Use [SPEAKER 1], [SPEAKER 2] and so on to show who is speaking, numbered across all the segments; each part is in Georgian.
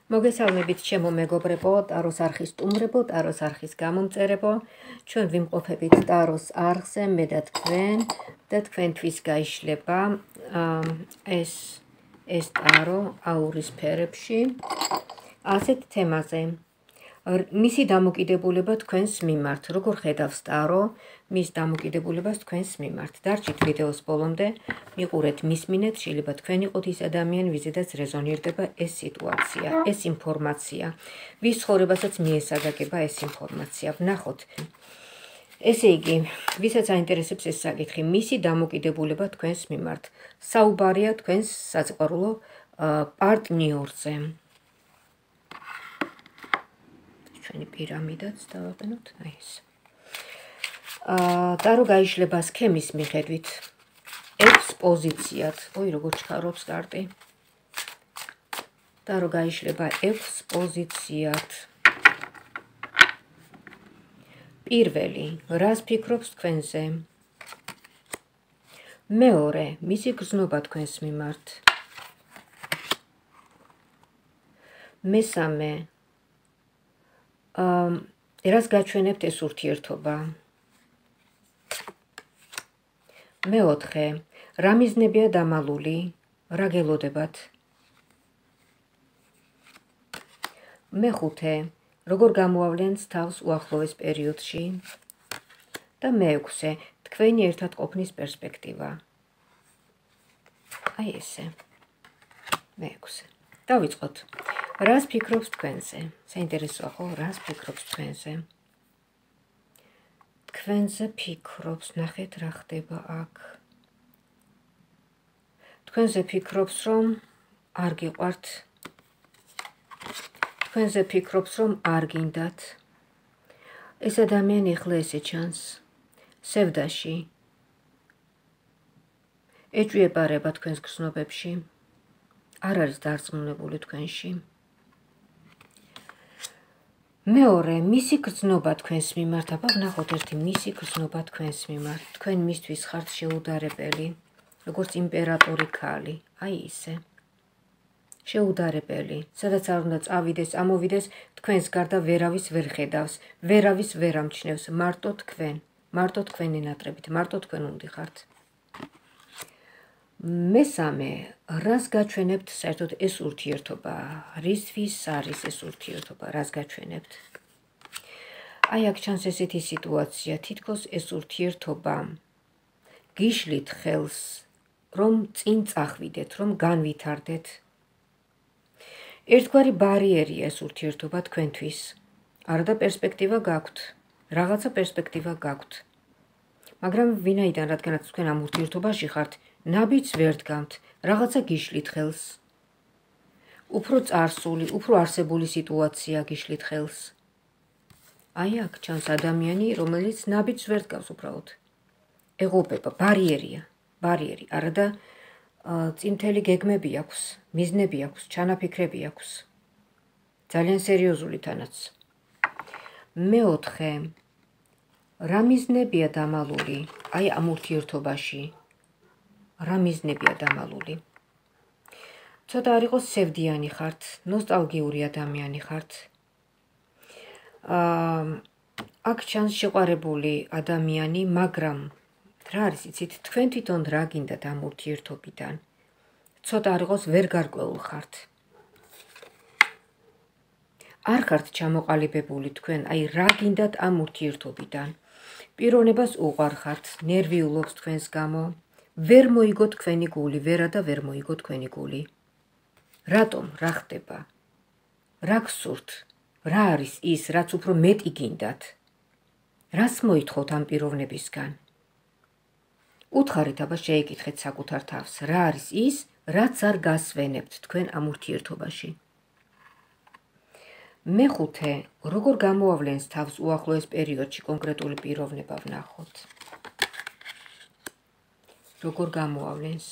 [SPEAKER 1] მოგესალმებით ჩემო მეგობრებო, ტაროს არხის სტუმრებო, ტაროს არხის გამომწერებო. ჩვენ ვიმყოფებით ტაროს არხზე, მე და თქვენთვის გაიშლება ეს ტარო აურის ფერებში. ასეთ თემაზე. მისი დამოკიდებულება თქვენს მიმართ, როგორ ხედავს ტარო მის დამოკიდებულებას თქვენს მიმართ. დარჩით ვიდეოს ბოლომდე, მიყურეთ, მისმინეთ, შეიძლება თქვენ იყოთ ის ადამიანი, ვიზედაც რეზონირდება ეს სიტუაცია, ეს ინფორმაცია, ვის ცხოვრებასაც მიესადაგება ეს ინფორმაცია. ვნახოთ. ესე იგი, ვისაც აინტერესებს ეს საკითხი, მისი დამოკიდებულება თქვენს მიმართ. საუბარია თქვენს საწყარულო პარტნიორზე. ჩვენი პირამიდაც დავაყენოთ, აი ეს. ტარო გაიშლება სქემის მიხედვით 6 პოზიციად. ой, როგორ ჩქარობს კარტი. ტარო გაიშლება 6 პოზიციად. პირველი, რას ფიქრობს თქვენზე? მეორე, მისი გრძნობა თქვენს მიმართ. მესამე, რას გაჩვენებთ ეს ურთიერთობა? მეოთხე, რა მიზნებია დამალული, რა გელოდებათ? მეხუთე, როგორ გამოავლენთ თავს უახლოეს პერიოდში? და მეექვსე, თქვენი ერთად ყოფნის პერსპექტივა. აი ესე. მეექვსე. დავიწყოთ. რას ფიქრობს თქვენზე? საინტერესოა ხო, რას ფიქრობს თქვენზე? თქვენზე ფიქრობს, ნახეთ რა ხდება აქ. თქვენზე ფიქრობს, რომ არ გიყვართ. თქვენზე ფიქრობს, რომ არ გინდათ. ეს ადამიანი ახლა ესე ჩანს. სევდაში. ეჭვიებარება თქვენს გრძნობებში. არ არის დარწმუნებული თქვენში. მეორე, მისი გრძნობა თქვენს მიმართ, აბა ვნახოთ ერთი მისი გრძნობა თქვენს მიმართ. თქვენ მისთვის ხართ შეუდარებელი, როგორც იმპერატორი ქალი, აი ისე. შეუდარებელი, სადაც არ უნდა წავიდეს, ამოვიდეს, თქვენს გარდა ვერავის ვერ ხედავს, ვერავის ვერ ამჩნევს, მარტო თქვენ, მარტო თქვენი ნატრებით, მარტო თქვენ უნდიხართ. მესამე, რას გაჩვენებთ საერთოდ ეს ურთიერთობა? რისთვის არის ეს ურთიერთობა? რას გაჩვენებთ? აი აქ ჩანს ესეთი სიტუაცია, თითქოს ეს ურთიერთობა გიშლით ხელს, რომ წინ წახვიდეთ, რომ განვითარდეთ. ერთგვარი ბარიერია ეს ურთიერთობა თქვენთვის. არადა პერსპექტივა გაქვთ, რაღაცა პერსპექტივა გაქვთ. მაგრამ ვინაიდან, რადგანაც თქვენ ამ ურთიერთობაში ხართ, ნაბიჯს ვერ დგამთ, რაღაცა გიშლით ხელს. უფრო წარსული, უფრო არსებული სიტუაცია გიშლით ხელს. აი აქ ჩანს ადამიანი, რომელიც ნაბიჯს ვერ დგავს უბრალოდ. ეღობება, ბარიერი, არადა წინთელი გეგმები აქვს, მიზნები აქვს, ჩანაფიქრები აქვს. ძალიან სერიოზული თანაც. მეოთხე, რა მიზნებია დამალული, აი ამ ურთიერთობაში? რა მიზნებია დამალული? ცოტა არ იყოს სევდიანი ხართ, ნოსტალგიური ადამიანი ხართ. აქ ჩანს შეყვარებული ადამიანი, მაგრამ რა არის იცით, თქვენ თვითონ რა გინდათ ამ ურთიერთობიდან? ცოტა არ იყოს ვერ გარკვეულ ხართ. არ ხართ ჩამოყალიბებული თქვენ, აი რა გინდათ ამ ურთიერთობიდან? პიროვნებას უყვარხართ, ნერვიულობს თქვენს გამო. ვერ მოიგო თქვენი გული, ვერა და ვერ მოიგო თქვენი გული. რატომ? რა ხდება? რა გსურთ? რა არის ის, რაც უფრო მეტი გინდათ? რას მოითხოვთ ამ პიროვნებისგან? უთხარით, აბა შეეკითხეთ საკუთარ თავს, რა არის ის, რაც არ გასვენებთ თქვენ ამ ურთიერთობაში? მეხუთე, როგორ გამოავლენს თავს უახლოეს პერიოდში კონკრეტული პიროვნება ვნახოთ. როგორ გამოავლენს?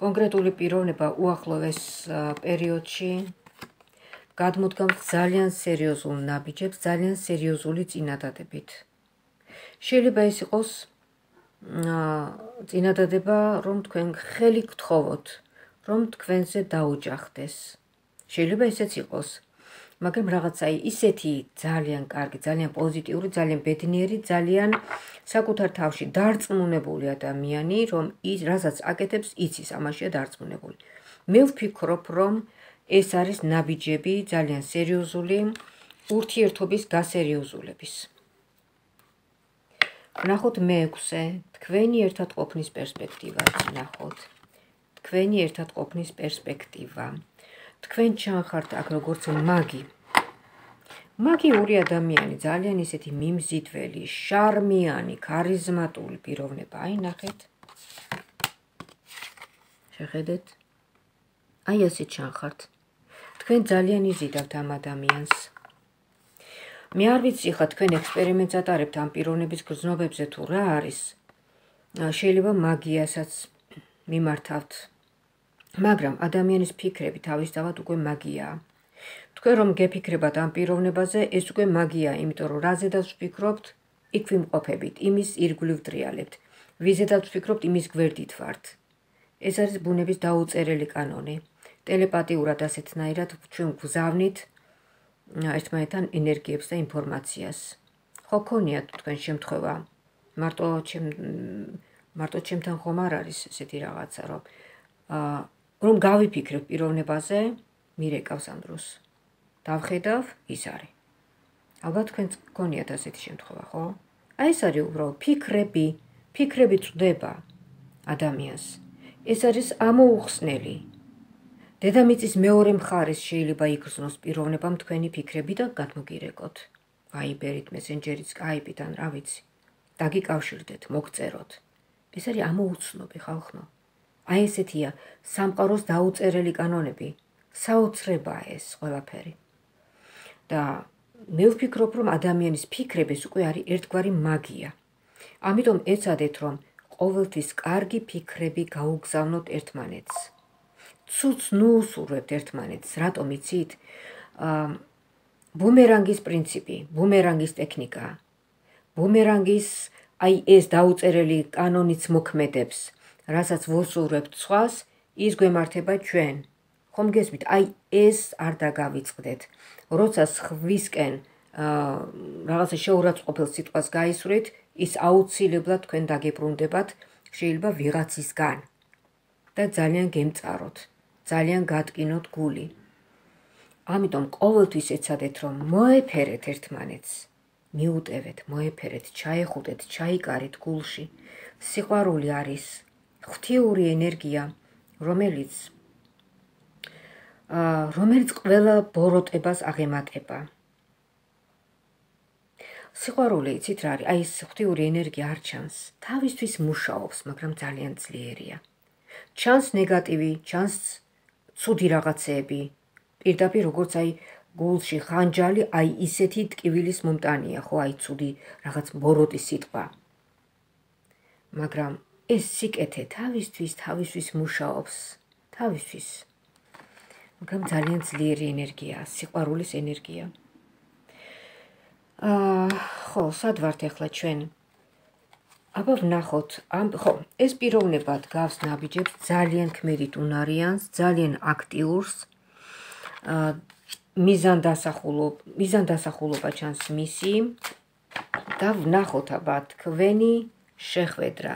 [SPEAKER 1] კონკრეტული პიროვნება უახლოეს პერიოდში გადმოდგამთ ძალიან სერიოზულ ნაბიჯებს, ძალიან სერიოზული წინადადებით. შეიძლება ეს იყოს წინადადება, რომ თქვენ ხელი გთხოვოთ, რომ თქვენზე დაუჯახდეს. შეიძლება ესეც იყოს. მაგრამ რაღაცა ისეთი ძალიან კარგი, ძალიან პოზიტიური, ძალიან ბედნიერი, ძალიან საკუთარ თავში დარწმუნებული ადამიანი, რომ ის რასაც აკეთებს, იცის ამაშია დარწმუნებული. მე ვფიქრობ, რომ ეს არის ნაბიჯები ძალიან სერიოზული ურთიერთობის გასერიოზულების. ვნახოთ მე-6, თქვენი ერთად ყოფნის პერსპექტივა, ვნახოთ. თქვენი ერთად ყოფნის პერსპექტივა. თქვენ ჩანხართ აქ როგორც მაგი. მაგიური ადამიანი, ძალიან ისეთი მიმზიდველი, შარმიანი, ქარიზმატული პიროვნება. აი, ნახეთ. შეხედეთ. აი ასე ჩანხართ. თქვენ ძალიან იზიდავთ ამ ადამიანს. მე არ ვიცი ხა თქვენ ექსპერიმენტს ატარებთ ამ პიროვნების გრძნობებზე თუ რა არის. შეიძლება მაგიასაც მიმართავთ. მაგრამ ადამიანის ფიქრები თავისთავად უკვე მაგიაა. თქვენ რომ გეფიქრებათ ამ პიროვნებაზე, ეს უკვე მაგიაა, იმიტომ რომ რაზედაც ვფიქრობთ, იქ ვიმყოფებით, იმის ირგვლივ ვტრიალებთ. ვიზედაც ვფიქრობთ, იმის გვერდით ვართ. ეს არის ბუნების დაუწერელი კანონი. ტელეპათიურად ასეთნაირად ჩვენ გვგზავნით ერთმანეთთან ენერგიებს და ინფორმაციას. ხო ქონიათ თქვენ შემთხვევა. მარტო ჩემთან ხომ არ არის ესეთი რაღაცა, რომ გავიფიქრებ პიროვნებაზე, მირეკავს ამ დროს. დავხედავ, ის არის. ალბათ თქვენ გქონიათ ასეთი შემთხვევა, ხო? აი ეს არის უბრალოდ ფიქრები წვდება ადამიანს. ეს არის ამოუხსნელი. დედამიწის მეორე მხარეს შეიძლება იგრძნოს პიროვნებამ თქვენი ფიქრები და გადმოგირეკოთ. ვაიბერით, მესენჯერით, სკაიპით ან რა ვიცი. დაგიკავშირდეთ, მოგწეროთ. ეს არის ამოუცნობი ხალხო. აი ესეთია სამყაროს დაუწერელი კანონები. საოცრებაა ეს ყველაფერი. და მე ვფიქრობ, რომ ადამიანის ფიქრების უკვე არის ერთგვარი მაგია. ამიტომ ეცადეთ, რომ ყოველთვის კარგი ფიქრები გაუგზავნოთ ერთმანეთს. ცუც ნუუსურვებთ ერთმანეთს, რატომ იცით? ბუმერანგის პრინციპი, ბუმერანგის ტექნიკა. ბუმერანგის აი ეს დაუწერელი კანონიც მოქმედებს, რასაც ვუსურვებთ სხვას, ის გვემართება ჩვენ. ხომ გესმით? აი ეს არ დაგავიწყდეთ. როცა სხვისკენ რაღაცა შეურაცხყოფელ სიტყვას გაისვრით, ის აუცილებლად თქვენ დაგებრუნდებათ, შეიძლება ვიღაცისგან და ძალიან გემწაროთ, ძალიან გატკინოთ გული. ამიტომ ყოველთვის ეცადეთ, რომ მოეფერეთ ერთმანეთს, მიუტევეთ, მოეფერეთ, ჩაეხუტეთ, ჩაიკარით გულში. სიყვარული არის ღვთიური ენერგია, რომელიც ყველა ბოროტებას აღემატება. სიყვარული, იცით რა არის? აი ეს ღვთიური ენერგია არ ჩანს. თავისთვის მუშაობს, მაგრამ ძალიან ძლიერია. ჩანს ნეგატივი, ჩანს ცუდი რაღაცეები. პირდაპირ როგორც აი გულში ხანჯალი, აი ისეთი ტკივილის მომტანია, ხო, აი ცუდი რაღაც ბოროტის სიტყვა. მაგრამ ეს სიკეთე თავისთვის მუშაობს, თავისთვის. მაგრამ ძალიან ძლიერი ენერგია, სიყვარულის ენერგია. ხო, სად ვართ ახლა ჩვენ? აბა ვნახოთ, ხო, ეს პიროვნება დგავს ნაბიჯებს ძალიან ქმედით უნარიანს, ძალიან აქტიურს. მიზანდასახულობა ჩანს მისი და ვნახოთ აბა თქვენი შეხვედრა.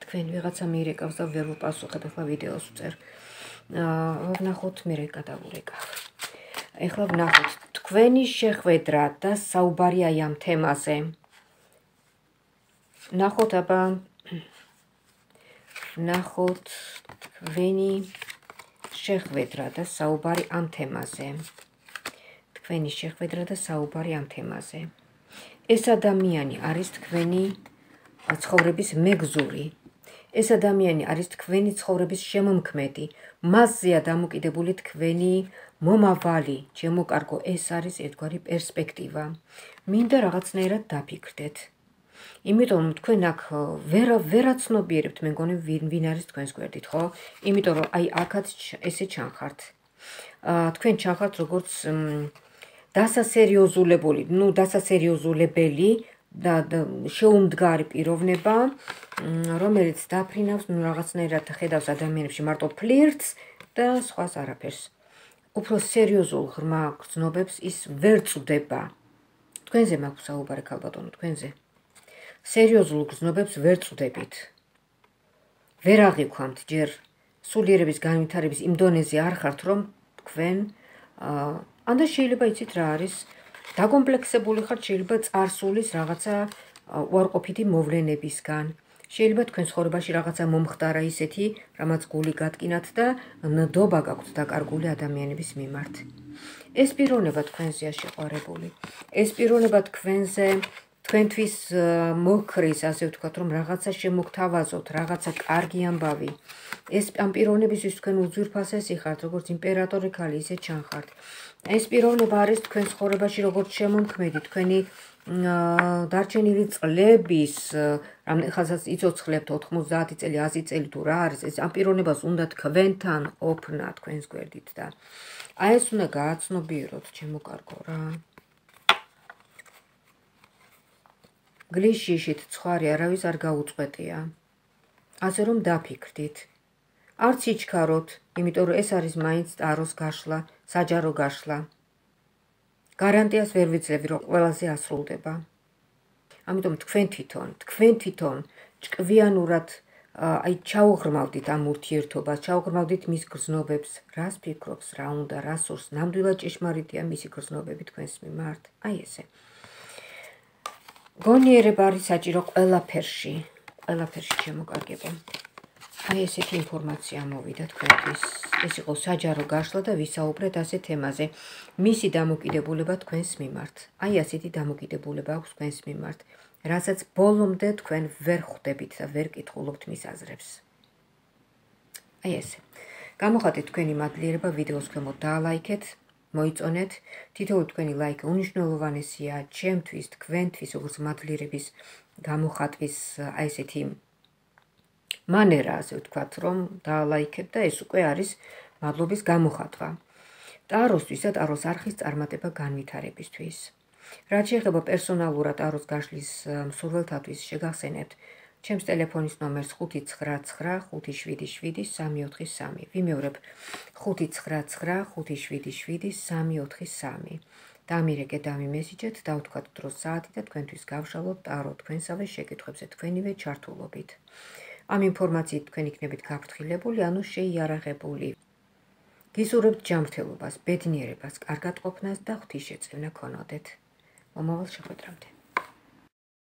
[SPEAKER 1] თქვენ ვიღაცა მიირეკავს და ვერ ვპასუხებ, ახლა ვიდეოს ვწერ. ვნახოთ, მე გადავურეკავ. ახლა ვნახოთ თქვენი შეხვედრა და საუბარი აი ამ თემაზე. ვნახოთ აბა ვნახოთ თქვენი შეხვედრა და საუბარი ამ თემაზე. თქვენი შეხვედრა და საუბარი ამ თემაზე. ეს ადამიანი არის თქვენი ცხოვრების მეგზური. ეს ადამიანი არის თქვენი ცხოვრების შემომქმედი. მასზეა დამოკიდებული თქვენი მომავალი. ჩემო კარგო, ეს არის ერთგვარი პერსპექტივა. მინდა რაღაცნაირად დაფიქრდეთ. იმიტომ თქვენ აქ ვერაცნობიერებთ, მე მგონი ვინ არის თქვენს გვერდით, ხო? იმიტომ რომ აი აქაც ესე ჩანხართ. თქვენ ჩანხართ როგორც დასასერიოზულებული, დასასერიოზულებელი და შეუმდგარი პიროვნება, რომელიც დაფრინავს რაღაცნაირად ხედავს ადამიანებში მარტო ფლირტს და სხვას არაფერს. უფრო სერიოზულ ღრმა გრძნობებს ის ვერ წვდება. თქვენზე მაქვს საუბარი ქალბატონო, თქვენზე. სერიოზულ გრძნობებს ვერ წვდებით. ვერ აღიქვამთ ჯერ სულიერების განვითარების იმ დონეზე არ ხართ, რომ თქვენ ანდა შეიძლება იცით რა არის, დაკომპლექსებული ხართ შეიძლება წარსულის რაღაცა უარყოფითი მოვლენებისგან. შეიძლება თქვენ ცხოვრებაში რაღაცა მომხდარა ისეთი, რამაც გული გატკინათ და ნდობა გაქვთ დაკარგული ადამიანების მიმართ. ეს პიროვნება თქვენზეა შეყვარებული. ეს პიროვნება თქვენთვის მოქრის, ასე ვთქვათ, რომ რაღაცა შემოგთავაზოთ, რაღაცა კარგი ამბავი. ეს ამ პიროვნებისთვის თქვენ უძვირფასესი ხართ, როგორც იმპერატორი ქალი, ისე ჩანხართ. ეს პიროვნება არის თქვენ ცხოვრებაში როგორც შემომქმედი, თქვენი დარჩენილი წლების, რამხანაც იცოცხლებთ 90 წელი, 100 წელი თუ რა არის, ეს ამ პიროვნებას უნდა თქვენთან ყოფნა თქვენს გვერდით და აი ეს უნდა გააცნობიეროთ, ჩემო კარგო რა. გლიშიშით ცხარი არავის არ გაუწყვეტია. ასე რომ დაფიქრდით. არც იჩქაროთ, იმიტომ რომ ეს არის მაინც ტაროს გაშლა, საჯარო გაშლა. გარანტიას ვერ ვიძლევი, რომ ყველაზე ასრულდება. ამიტომ თქვენ თვითონ ჭკვიანურად აი ჩაუღრმავდით ამ ურთიერთობას, ჩაუღრმავდით მის გრძნობებს, რას ფიქრობს, რა უნდა, რა სურს, ნამდვილად ჭეშმარიტია მისი გრძნობები თქვენს მიმართ. აი ესე. გონიერება არის საჭირო ყველაფერში შემოკარგებო. აი ესეთი ინფორმაცია მოვიდა თქვენთვის. ეს იყო საჯარო გაშლა და ვისაუბრეთ ასე თემაზე. მისი დამოკიდებულება თქვენს მიმართ. აი ასეთი დამოკიდებულება აქვს თქვენს მიმართ, რასაც ბოლომდე თქვენ ვერ ხვდებით და ვერ კითხულობთ მის აზრებს. აი ესე. გამოხატეთ თქვენი მადლიერება ვიდეოს ქვემოთ დაალაიქეთ, მოიწონეთ. თითოეული თქვენი ლაიქი უნიშნელოვანესია ჩემთვის, თქვენთვის, როგორც მადლიერების გამოხატვის აი ესეთი მანერა, ასე ვთქვათ, რომ დაალაიქებ და ეს უკვე არის მადლობის გამოხატვა. ტაროსთვის და ტაროს არხის წარმატება განვითარებისთვის. რაც შეეხება პერსონალურად ტაროს გაშლის მსურველთათვის შეგახსენებთ ჩემს ტელეფონის ნომერს 599577343. ვიმეორებ 599577343. დამირეკეთ, დამიმესიჯეთ, დავთქვათ დროს საათი და თქვენთვის გავშალოთ ტარო თქვენსავე შეკითხვებზე თქვენივე ჩართულობით. ამ ინფორმაციით თქვენ იქნებით გაფრთხილებული, ანუ შეიარაღებული. გისურვებთ ჯანმრთელობას, ბედნიერებას, კარგად ყოფნას და ღვთისშეწევნა ქონოდეთ. მომავალ შეხვედრამდე.